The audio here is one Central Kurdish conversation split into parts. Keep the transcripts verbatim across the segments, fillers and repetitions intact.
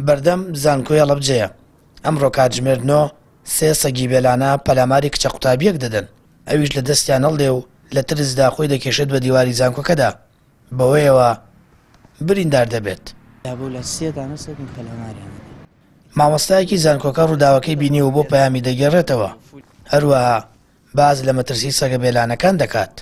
بەردەم زانکۆی هەڵەبجەیە. ئەمڕۆ کاتژمێر نۆ سێ سەگی بێلانە پەلاماری کچە قوتابیەک دەدەن، ئەویش لە دەستیان هەڵدێ و لە ترسدا خۆی دەکێشێت بە دیواری زانکۆکەدا، بەوەیەوە بریندار دەبێت. مامۆستایەکی زانکۆکە ڕووداوەکەی بینی و بۆ پەیامی دەگێڕێتەوە، هەروەها باز لە مەترسی سەگە بێلانەکان دەکات.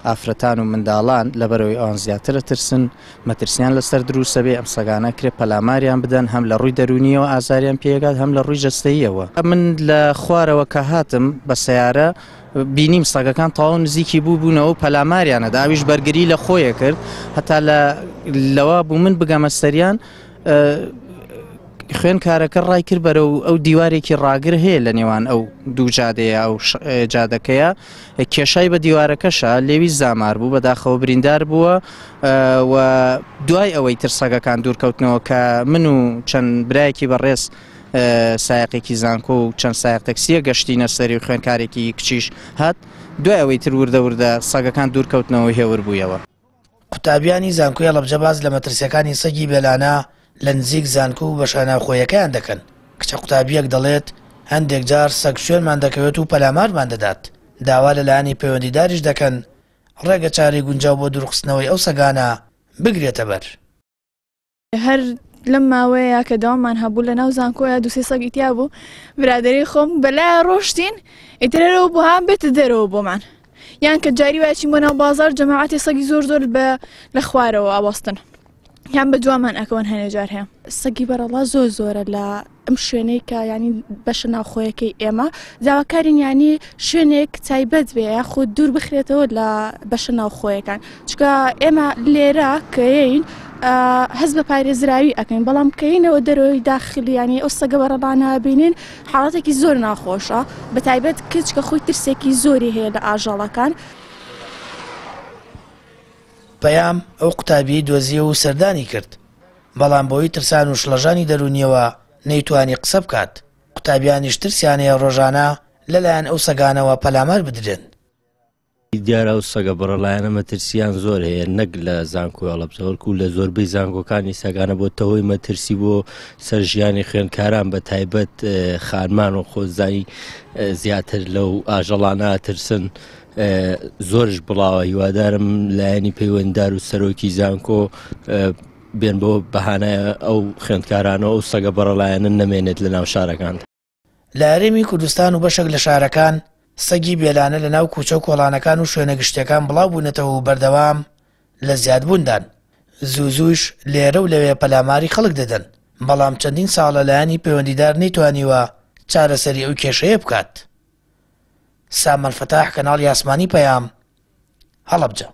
ئافرەتان و منداڵان لەبەرەوەی ئەوان زیاترە ترسن، مەترسیان لەسەر دروستە بێ ئەم سەگانە کرێ پەلاماریان بدەن، هەم لە ڕووی دەرونیەوە ئازاریان پێگات، هەم لە ڕووی جەستەییەوە. من لە خوارەوە کە هاتم بە سەیارە بینیم سەگەکان تەواو نزیکی بوو بوونەوە و پەلاماریانەدا، ئەویش بەرگری لە خۆیە کرد هەتا لەوە بوو من بگەمە سەریان. خوێنکارەکە ڕای کرد بەرەو ئەو دیوارێکی ڕاگر هەیە لە نێوان ئەو دوو جادەیە ئەو جادەکەیە، کێشای بە دیوارەکەشە لێوی زامار بوو، بەداخەوە بریندار بووە. و دوای ئەوەی ترسەگەکان دوورکەوتنەوە کە من و چەند برایەکی بەڕێز سایەقێکی زانکۆ و چەند سایەق تەکسیە گەشتینە سەری و خوێنکارێکی کچیش هات، دوای ئەوەی تر وردە وردە سەگەکان دوورکەوتنەوە هێور بوویەوە. قوتابیانی زانکۆی هەڵەبجە باز لە مەترسیەکانی سەگی بێلانە لە نزیک زانکۆ و بەشە ناوخۆیەکەیان دەکەن. کچە قوتابیەک دەڵێت هەندێک جار سەگ شوێنمان دەکەوێت و پەلامارمان دەدات، داوا لەلایەنی پەیوەندیداریش دەکەن ڕێگە چارەی گونجاو بۆ دوورخستنەوەی ئەو سەگانە بگرێتە بەر. هەر لەم ماوەیە کە داوامان هەبوو لە ناو زانکۆیە دوو سێ سەگی تیا بوو، برادەری خۆم بەلایە ڕۆشتین ئیترەوە بۆ هام بێتە دەرەوە بۆمان، یان کە جاری وایە چین بۆ ناو بازار جەماعەتی سەگی زۆر زۆر بە لە خوارەوە ئاوەستن، یان بە دوامان ئەکەون هەنێ جار هەیە. سەگی بەرەڵا زۆر زۆرە لە ئەم شوێنەی کە ینی بەشە ناوخۆیەکەی ئێمە، داواکارین ینی شوێنێک تایبەت بێ یاخود دوور بخرێتەوە لە بەشە ناوخۆیەکان، چونکە ئێمە لێرە کەین هەست بە پارێزراوی ئەکەین، بەڵام کەینەوە دەرەوەی داخلی ینی ئەو سەگە بەرەڵانە بینین حاڵەتێکی زۆر ناخۆشە، بە تایبەت کچ کە خۆی ترسێکی زۆری هەیە لە ئاژەڵەکان. پەیام ئەو قوتابیەی دۆزیەوە و سەردانی کرد، بەڵام بۆی ترسان و شڵەژانی دەرونیەوە نەیتوانی قسە بکات. قوتابیانیش ترسیانەیە ڕۆژانە لەلایەن ئەو سەگانەوە پەلامار بدرێن. دیارە ئەو سەگە بەڕەڵایانە مەترسیان زۆر هەیە، نەک لە زانکۆی هەڵەبجە بەڵکو لە زۆربەی زانکۆکانی سەگانە بۆتەوەی مەترسی بۆ سەر ژیانی خوێندکاران، بە تایبەت خانمان و خۆزانی زیاتر لەو ئاژەڵانە ترسن، زۆرش بڵاوە. هیوادارم لایەنی پەیوەنددار و سەرۆکی زانکۆ بێن بۆ بەهانای ئەو خوێندکارانە ئەو سەگە بەڕەڵایانە نەمێنێت لە ناو شارەکان. لە هەرێمی کوردستان و بەشێک لە شارەکان سەگی بێلانە لە ناو کوچە و کۆڵانەکان و شوێنە گشتیەکان بڵاو بوونەتەوە و بەردەوام لە زیادبووندان. زوو زووش لێرە و لەوێ پەلاماری خەڵک دەدەن، بەڵام چەندین ساڵە لایەنی پەیوەندیدار نەیتوانیوە چارەسەری ئەو کێشەیە بکات. سامان فەتاح، کەناڵی ئاسمانی پەیام، هەڵەبجە.